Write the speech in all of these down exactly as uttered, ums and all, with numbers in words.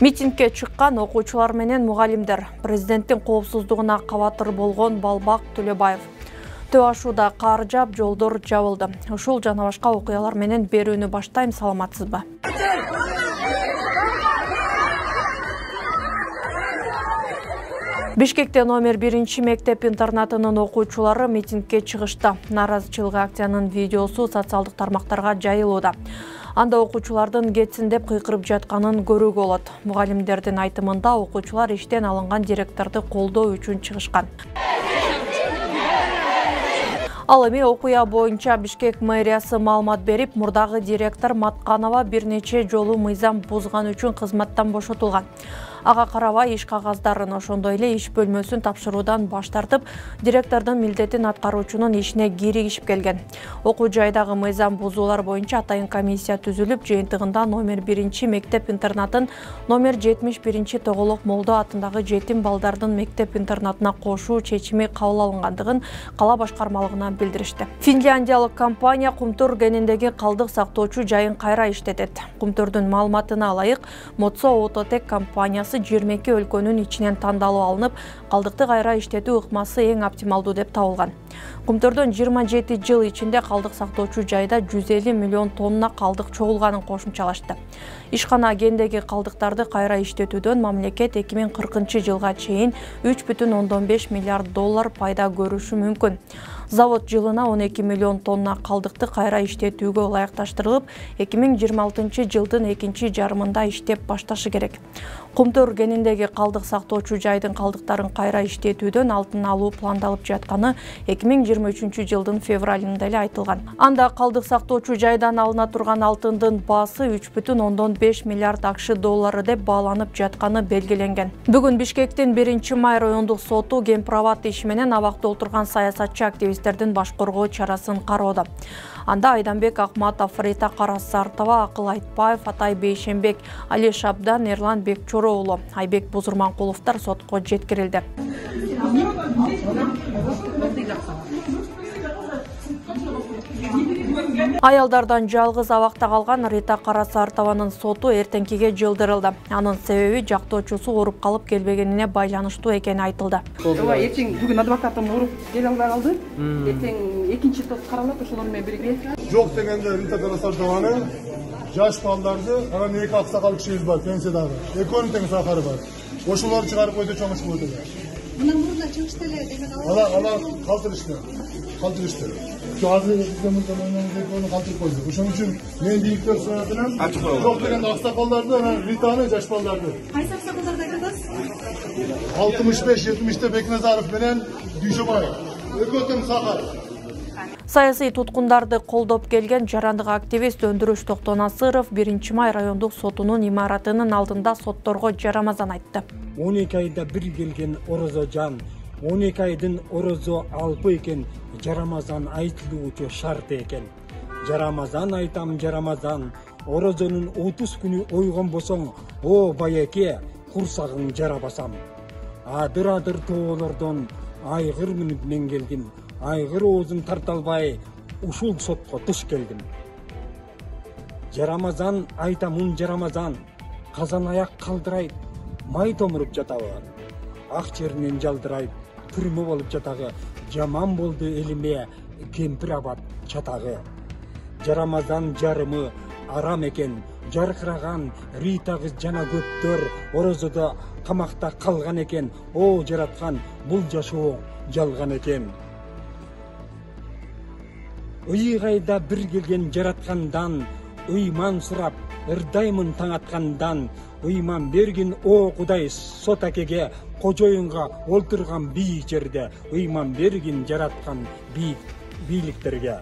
Митингге чыккан окуучулар менен мугалимдер. Президенттин коопсуздугуна кабатыр болгон Балбак Төлөбаев. Төө ашууда кар жаап, жолдор жабылды. Ушул жана башка окуялар менен берүүнү баштайм, саламатсызбы? Бишкекте номер биринчи мектеп интернатынын окуучулары митингге чыгышты. Нааразычылык акциянын видеосу социалдык тармактарга жайылууда. Анда окуучулардын кетсин деп кыйкырып жатканын көрүүгө болот. Мугалимдердин айтымында окуучулар иштен алынган директорду колдоо үчүн чыгышкан. Ал эми окуя боюнча Бишкек мэриясы маалымат берип, мурдагы директор Матканова бир нече жолу мыйзам бузган үчүн кызматтан бошотулган. Ага карабай иш кагаздарын, ошондой эле иш бөлмөсүн тапшыруудан баш тартып, директордун милдетин аткаруучунун ишине киригишип келген. Окуу жайдагы мыйзам бузуулар боюнча атайын комиссия түзүлүп, жыйынтыгында номер биринчи мектеп интернатын номер жетимиш биринчи Тоголок Молдо атындагы жетим балдардын мектеп интернатына кошуу чечими кабыл алынгандыгын кала башкармалыгына билдиришти. Финляндиялык компания Кумтур кениндеги калдык сактоочу жайын кайра иштетет. Кумтурдун маалыматына ылайык, Модсо Ототек компаниясы жыйырма эки өлкөнүн ичинен тандалып алынып, калдыкты кайра иштетүү ыкмасы эң оптималдуу деп табылган. Кумтурдун жыйырма жети жыл ичинде калдык сактоочу жайда жүз элүү миллион тонна калдык чогулганын кошумчалашты. Ишкана кендеги калдыктарды кайра иштетүүдөн мамлекет эки миң кыркынчы жылга чейин үч бүтүн ондон беш миллиард доллар пайда көрүшү мүмкүн. Завод жылына он эки миллион тонна калдыкты кайра иштетүүгө ылайыкташтырылып, эки миң жыйырма алтынчы жылдын экинчи жарымында иштеп башташы керек. Кумтур кениндеги калдык сактоочу жайдын калдыктарын кайра иштетүүдөн алдын алуу пландалып жатканы эки миң жыйырма үчүнчү жылдын февралында эле айтылган. Анда калдык сактоочу жайдан алына турган алтындын баасы үч бүтүн ондон беш миллиард акш доллары деп бааланып жатканы белгиленген. Бүгүн Бишкектин биринчи май райондук соту Гемпроват иши менен абакта отурган саясатчы активисттердин баш коргоо чарасын кароодо. Анда Айданбек Акматов, Рита Карасартова, Акыл Айтбаев, Атай Бейшенбек, Али Шабдан, Эрлан Бекчоро уулу, Айбек Бузурманкуловдор сотко жеткирилди. Аялдардан жалгыз абакта калган Рита Карасартованын соту эртеңкиге жылдырылды. Анын себеби жактоочусу ооруп калып келбегенине байланыштуу экени айтылды. Ооба, эртең бүгүн адвокатым ооруп келе албай калды. Эртең экинчи топ каралат, ошолор менен бирге. Жок дегенде Рита Карасартованы жаш балдарды, анан эки аксакал кишибиз бар, пенсиядагы. Экөөнүн тең сахары бар. Ошолорду чыгарып койду, чоң иш кылды. Мына мурда чыгышты эле деген ал. Ала, ала калтырышты. Калтырышты. Азыр экөөмүздөн ойногон калтырып койду. Ошон үчүн мен бийликтер соратынан жок дегенде аксакалдарды, анан Ританы жаш балдарды. Кайсы аксакалдарды айтасыз? алтымыш беш жетимиште Бекназаров менен Дүйшөбаев. Экөө тең сахар. Саясий туткундарды колдоп келген жарандык активист Өндүрүш Токтонасыров биринчи май райондук сотунун имаратынын алдында сотторго жарамазан айтты. он эки айда бир келген орозо жан, он эки айдын орозо алпы экен, жарамазан айтылуучу шарт экен. Жарамазан айтам, жарамазан, орозонун отуз күнү ойгонбосоң, о байеке, курсагың жарабасам. Адыр-адыр тоолордон айгыр мүнүп мен келдим. Айгыр оозун тарта албай, ушул сотко туш келдим. Жарамазан айтамын, жарамазан, казан аяк калдырайт, май томуруп жатабы. Ак жеринен жалдырайт, түрмө болуп жатагы. Жаман болду элиме, кемпир абат чатагы. Жарамазан жарымы арам экен, жаркыраган Рита кыз жана көптөр орозодо камакта калган экен. О жараткан, бул жашоо жалган экен. Ыйгайда бир келген жараткандан, ыйман сурап, ырдаймын таң аткандан, ыйман бергин о Кудай сот акеге, кожоюнга олтурган бийик жерде, ыйман бергин жараткан бийик бийликтерге.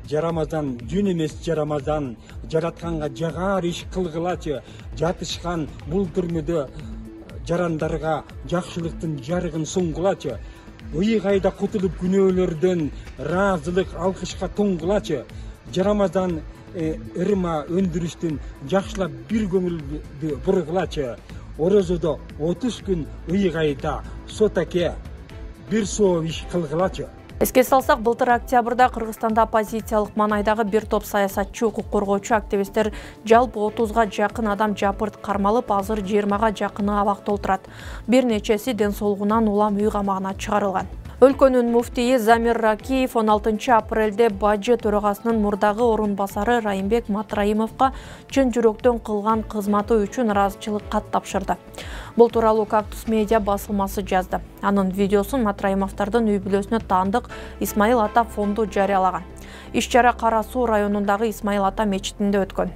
Жарамазан жүн эмес жарамазан, жаратканга жагар иш кылгылачы, жатышкан бул түрмөдө жарандарга жакшылыктын жарыгын сунгулачы. Ыйгайда кутулуп күнөөлөрдөн ыраазылык алкышка туңгулачы. Жарамазан ырма өндүрүштүн жакшылап бир көңүлдү бургулачы. Орозодо отуз күн ыйгайда сот аке бир соо иш кылгылачы. Эске салсак, былтыр октябрда Кыргызстанда оппозициялык маанайдагы бир топ саясатчы, укук коргоочу активисттер жалпы отузга жакын адам жапырт кармалып, азыр жыйырмага жакыны абакта отурат. Бир нечеси ден соолугунан улам үй камагына чыгарылган. Өлкөнүн муфтийи Замир Ракиев он алтынчы апрелде Бажы төрагасынын мурдагы орун басары Райымбек Матраимовго чын жүрөктөн кылган кызматы үчүн ыраазычылык кат тапшырды. Бул тууралуу Кактус медиа басылмасы жазды. Анын видеосун Матраимовдордун үй бүлөсүнө таандык Исмаил Ата фонду жарыялаган. Иш-чара Кара Суу районундагы Исмаил Ата мечитинде өткөн.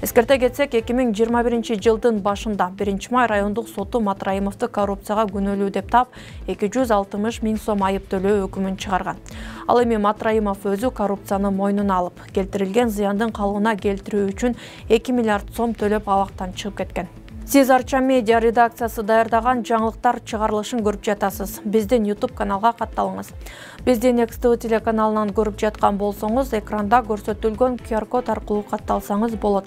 Эскерте кетсек, эки миң жыйырма биринчи жылдын башында биринчи май райондук соту Матраимовду коррупцияга күнөөлүү деп таап, эки жүз алтымыш миң сом айып төлөө өкүмүн чыгарган. Ал эми Матраимов өзү коррупцияны мойнуна алып, келтирилген зыяндын калыбына келтирүү үчүн эки миллиард сом төлөп абактан чыгып кеткен. Сиз Арча медиа редакциясы даярдаган жаңылыктар чыгарылышын көрүп жатасыз. Биздин YouTube каналга катталыңыз. Бизди Next T V телеканалынан көрүп жаткан болсоңуз, экранда көрсөтүлгөн Q R код аркылуу катталсаңыз болот.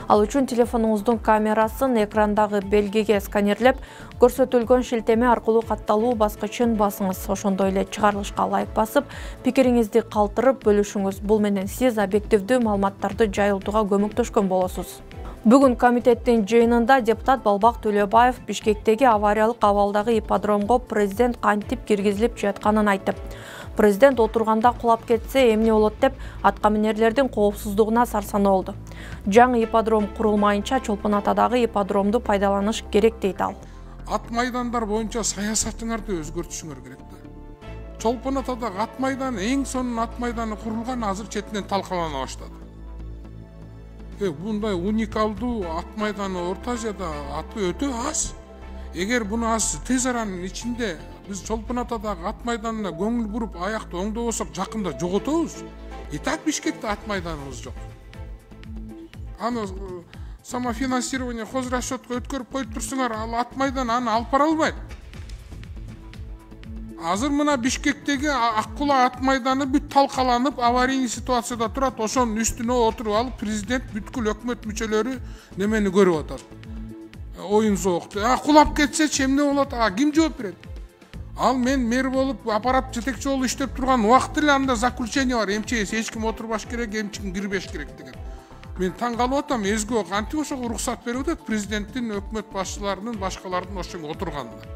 Ал үчүн телефонуңуздун камерасын экрандагы белгиге сканерлеп, көрсөтүлгөн шилтеме аркылуу катталуу баскычын басыңыз. Ошондой эле чыгарылышка лайк басып, пикириңизди калтырып бөлүшүңүз. Бул менен сиз объективдүү маалыматтарды жайылтууга көмөктөшкөн болосуз. Бүгүн комитеттин жыйынында депутат Балбак Төлөбаев Бишкектеги авариялык абалдагы ипподромго президент кантип киргизилип жатканын айтып, президент отурганда кулап кетсе эмне болот деп аткаминерлердин коопсуздугуна сарсанаа болду. Жаңы ипподром курулмайынча Чолпон Атадагы ипподромду пайдаланыш керек дейт ал. Ат майдандар боюнча саясатыңарды өзгөртүшүңөр керек да. Чолпон Атадагы ат майданы эң сонун ат майданы курулган, азыр четинен талкалана баштады. Э, bunday уникалдуу ат майданы Орто Азияда аты өтө аз. Эгер буну аз тез аранын ичинде биз Чолпон Атадагы ат майданына көңүл буруп, аякты оңдобосок, жакында жоготобуз. И так Бишкекте ат майданыбыз жок. Аны самофинансирование хозрасчетко өткөрүп коюп турсуңар, ал ат майдан аны алып бара албайт. Азыр мына Бишкектеги Аккула ат майданы бүт талкаланып, аварийный ситуацияда турат. Ошонун үстүнө отуруп алып, президент бүткүл өкмөт мүчөлөрү немени көрүп атат. Оюн соокtu. А кулап кетсе эмне болот? А ким жооп берет? Ал мен мэр болуп, аппарат жетекчи болуп иштеп турган убакытта эле анда заключение бар. МЧС эч ким отурбаш керек, эч ким кирбеш керек деген. Мен таң калып атам, өзгө кантип ошого уруксат берип атат президенттин, өкмөт башчыларынын, башкалардын ошого отурганына.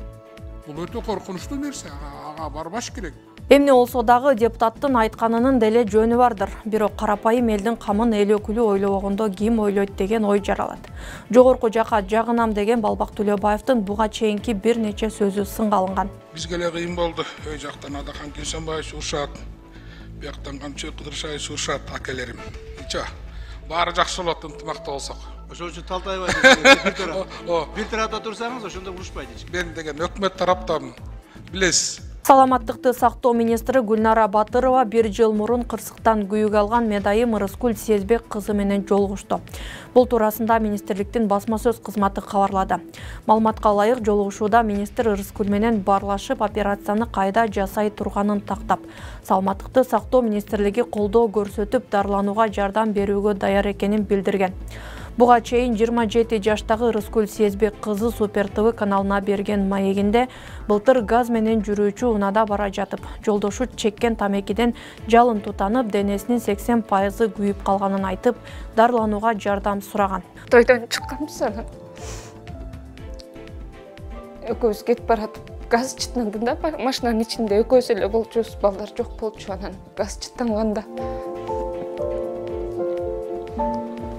Бул өтө коркунучтуу нерсе, ага барбаш керек. Эмне болсо дагы депутаттын айтканынын деле жөнү бардыр. Бирок карапайым элдин камын эл өкүлү ойлобогондо ким ойлойт деген ой жаралат. Жогорку жака жагынам деген Балбак Төлөбаевдин буга чейинки бир нече сөзү сынга алынган. Бизге эле кыйын болду. Ой жактан Адахан Кесенбаевич урушат. Бияктан Камчы Кыдыршаевич урушат, акелерим. Ича, баары жакшы болот, ынтымакта болсок. Ошол үчүн Талтаева бир тарап. Бир тарапта турсаңыз, ошондо урушпайт эч ким. Мен деген өкмөт тараптамын. Билесиз. Саламаттыкты сактоо министри Гүлнара Батырова бир жыл мурун кырсыктан күйүк алган медайым Ырыскүл Сезбек кызы менен жолугушту. Бул туурасында министрликтин басма сөз кызматы кабарлады. Маалыматка ылайык, жолугушууда министр Ырыскүл менен баарлашып, операцияны кайда жасай турганын тактап, саламаттыкты сактоо министрлиги колдоо көрсөтүп, дарыланууга жардам берүүгө даяр экенин билдирген. Буга чейин жыйырма жети жаштагы Ырыскүл Сезбек кызы Супер Т В каналына берген маегинде былтыр газ менен жүрүүчү унаада бара жатып, жолдошу чеккен тамекиден жалын тутанып, денесинин сексен пайызы күйүп калганын айтып, дарыланууга жардам сураган. Тойдон чыкканбыз анан. Экөөбүз кетип баратып, газ чыттанды да, машинанын ичинде экөөбүз эле болчубуз, балдар жок болчу, анан газ чыттанганда.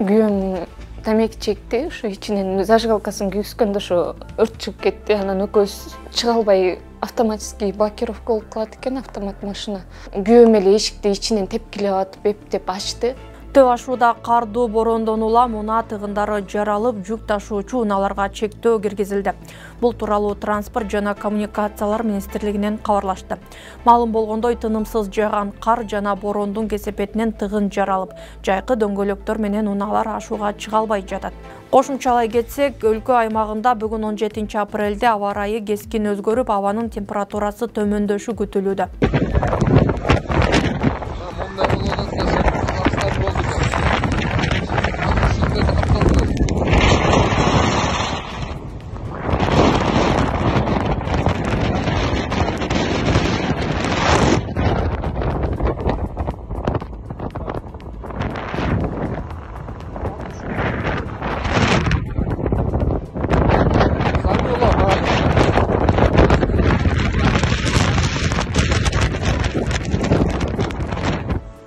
Күйөөм тамеки чекти, ошо ичинен зажигалкасын күйгүзгөндө ошо өрт чыгып кетти. Анан экөөбүз чыга албай автоматический блокировка болуп калат экен, автомат машина. Күйөөм эле эшикти ичинен тепкилеп атып, эптеп ачты. Төө ашууда кардуу борондон улам унаа тыгындары жаралып, жүк ташуучу унааларга чектөө киргизилди. Бул тууралуу Транспорт жана коммуникациялар министрлигинен кабарлашты. Маалым болгондой, тынымсыз жааган кар жана борондун кесепетинен тыгын жаралып, жайкы дөңгөлөктөр менен унаалар ашууга чыга албай жатат. Кошумчалай кетсек, өлкө аймагында бүгүн он жетинчи апрелде аба ырайы кескин өзгөрүп, абанын температурасы төмөндөшү күтүлүүдө.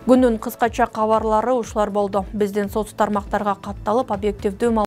Күндүн кыскача кабарлары ушулар болду. Биздин соц тармактарга катталып, объективдүү